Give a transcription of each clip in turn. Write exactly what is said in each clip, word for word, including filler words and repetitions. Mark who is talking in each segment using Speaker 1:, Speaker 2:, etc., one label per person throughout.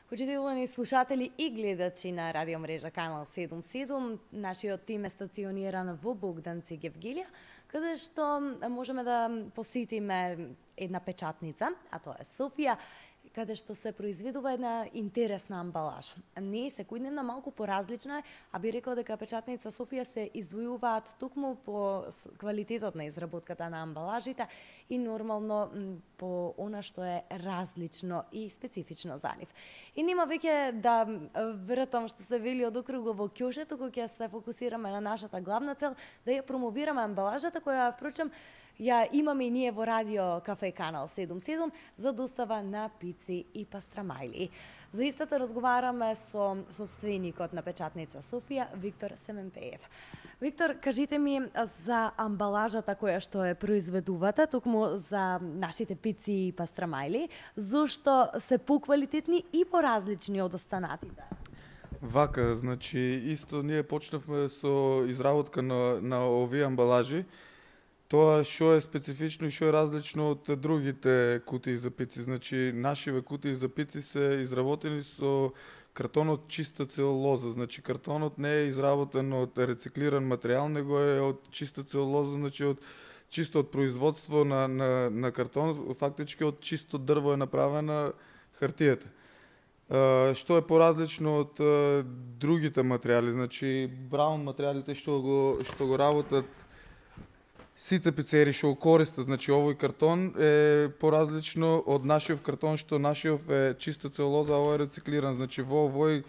Speaker 1: Почитувани слушатели и гледачи на радио мрежа Канал седумдесет и седум, нашиот тим е стациониран во Богданци, Гевгилија, каде што можеме да посетиме една печатница, а тоа е Софија, каде што се произведува една интересна амбалажа. Не е секојдневна, малку поразлична е, а би рекла дека печатница Софија се издвојуваат токму по квалитетот на изработката на амбалажите и нормално по она што е различно и специфично за нив. И нема веќе да вртам што се вели од округо во ќоше, туку ќе се фокусираме на нашата главна цел, да ја промовираме амбалажата која впрочем ја имаме и ние во радио Кафе Канал седумдесет и седум за достава на пици и пастрамајли. За истата разговараме со собственикот на печатница Софија, Виктор Семенпеев. Виктор, кажите ми за амбалажата која што е произведувате, токму за нашите пици и пастрамајли, зошто се поквалитетни и поразлични од останатите?
Speaker 2: Вака, значи, исто ние почнавме со изработка на, на овие амбалажи. Тоа што е специфично и што е различно од другите кутии за пици. Значи, нашиве кутии за пици се изработени со картон од чиста целулоза. Значи, картонот не е изработен од рециклиран материјал, него е од чиста целулоза, значи од чисто од производство на, на, на картон, фактички од чисто дрво е направена хартијата. Uh, што е поразлично од uh, другите материјали, значи браун материјалите што го што го работат сите пицери што го користат, значи овој картон е поразлично од нашиот картон, што нашиот е чиста целулоза, а овој е рециклиран. Значи во овој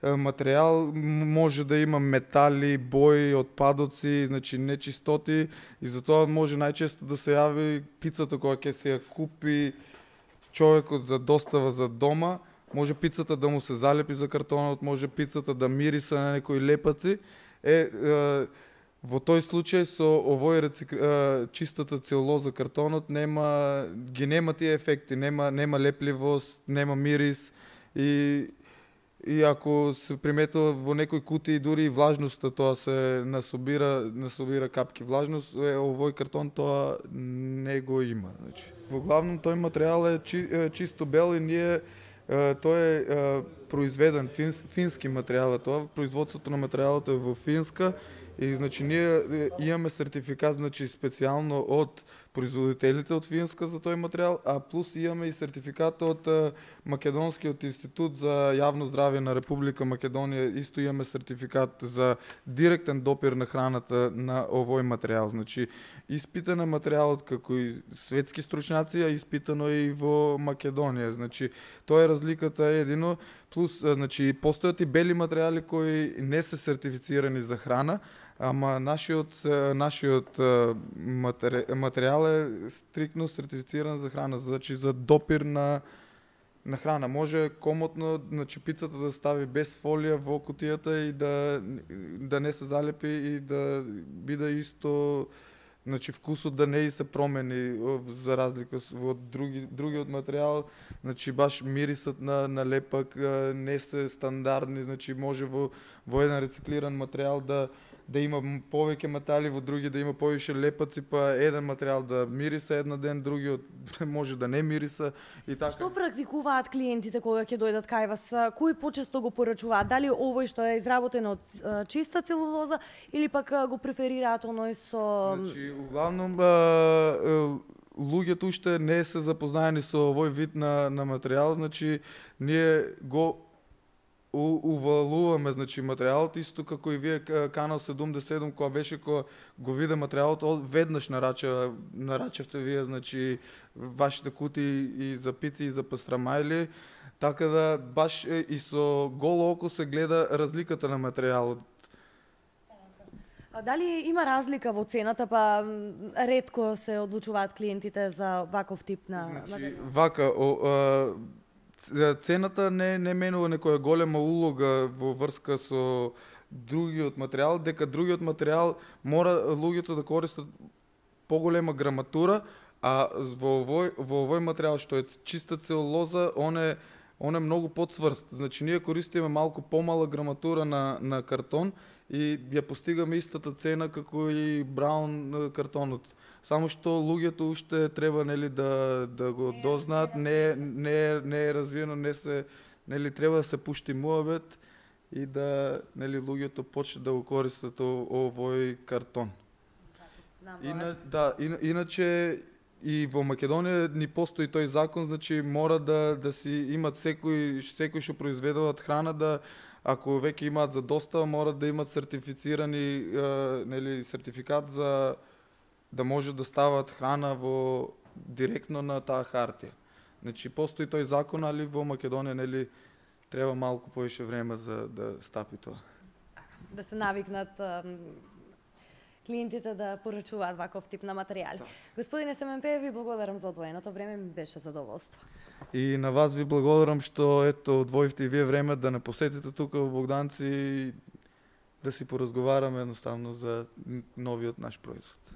Speaker 2: материјал може да има метали, бои, отпадоци, значи нечистоти и затоа може најчесто да се јави пицата која ќе се ја купи човекот за достава за дома. Може пицата да му се залепи за картонот, може пицата да мириса на некои лепаци. Е, е во тој случај со овој рецик... е, чистата целулоза картонот нема ги нема тие ефекти, нема нема лепливост, нема мирис и и ако се приметува во некои кутии дури и влажноста тоа се насобира, насобира капки влажност, е, овој картон тоа не го има, значи. Во главном тој материјал е, чи, е чисто бел и ние тој е, е произведен финс, фински материјал, тоа производството на материјалот е во Финска и значи ние имаме сертификат, значи специјално од производителите од Финска за тој материјал, а плюс имаме и сертификат од е, Македонскиот институт за јавно здравје на Република Македонија, исто имаме сертификат за директен допир на храната на овој материјал. Значи испитан е материјалот како и светски стручњаци, а испитано и во Македонија. Значи тоа е разликата едино, плюс значи постојат и бели материјали кои не се сертифицирани за храна, ама нашиот нашиот матери, материјал е стриктно сертифициран за храна, значи за допир на на храна. Може комотно, значи пицата да стави без фолија во кутијата и да да не се залепи и да биде исто, значи вкусот да не и се промени за разлика од други другиот материјал, значи баш мирисот на на лепак не се стандардни, значи може во во еден рециклиран материјал да да има повеќе метали, во други да има повише лепаци, па еден материјал да мириса една ден, другиот може да не мириса и така.
Speaker 1: Што практикуваат клиентите кога ќе дојдат кај вас? Кои почесто го порачуваат? Дали овој што е изработен од чиста целулоза или пак го преферираат оној со...
Speaker 2: Значи, углавном луѓето уште не се запознаени со овој вид на, на материјал, значи ние го У, увалуваме, значи материјалот исто како и вие Канал седумдесет и седум кога беше кога го виде материјалот веднаш нарача нарачевте вие, значи вашите кутии и за пици и за пастрамајли, така да баш и со голо око се гледа разликата на материјалот.
Speaker 1: А дали има разлика во цената, па ретко се одлучуваат клиентите за ваков тип на
Speaker 2: значи,
Speaker 1: материјал?
Speaker 2: Вака, о, а, цената не не менува некоја голема улога во врска со другиот материјал, дека другиот материјал мора луѓето да користат поголема граматура, а во овој во овој материјал што е чиста целулоза, он е он е многу поцврст. Значи ние користиме малку помала граматура на на картон и ја постигаме истата цена како и браун картонот. Само што луѓето уште треба нели да да го дознаат, не не не е развиено, не се нели треба да се пушти муабет и да, нели, луѓето почне да го користат о- овој картон. Ина, да, ина, иначе и во Македонија ни постои тој закон, значи мора да да си имат секој секој што произведуваат храна, да ако веќе имаат за достава, мора да имат сертифицирани е, нели сертификат за да може да стават храна во директно на таа хартија. Значи постои тој закон, али во Македонија нели треба малку повеќе време за да стапи тоа.
Speaker 1: Да се навикнат ам, клиентите да порачуваат ваков тип на материјали.
Speaker 2: Да.
Speaker 1: Господине Семенпеев, ви благодарам за одвоеното време, ми беше задоволство.
Speaker 2: И на вас ви благодарам што ето одвоивте и вие време да не посетите тука во Богданци и да си поразговараме едноставно за новиот наш производ.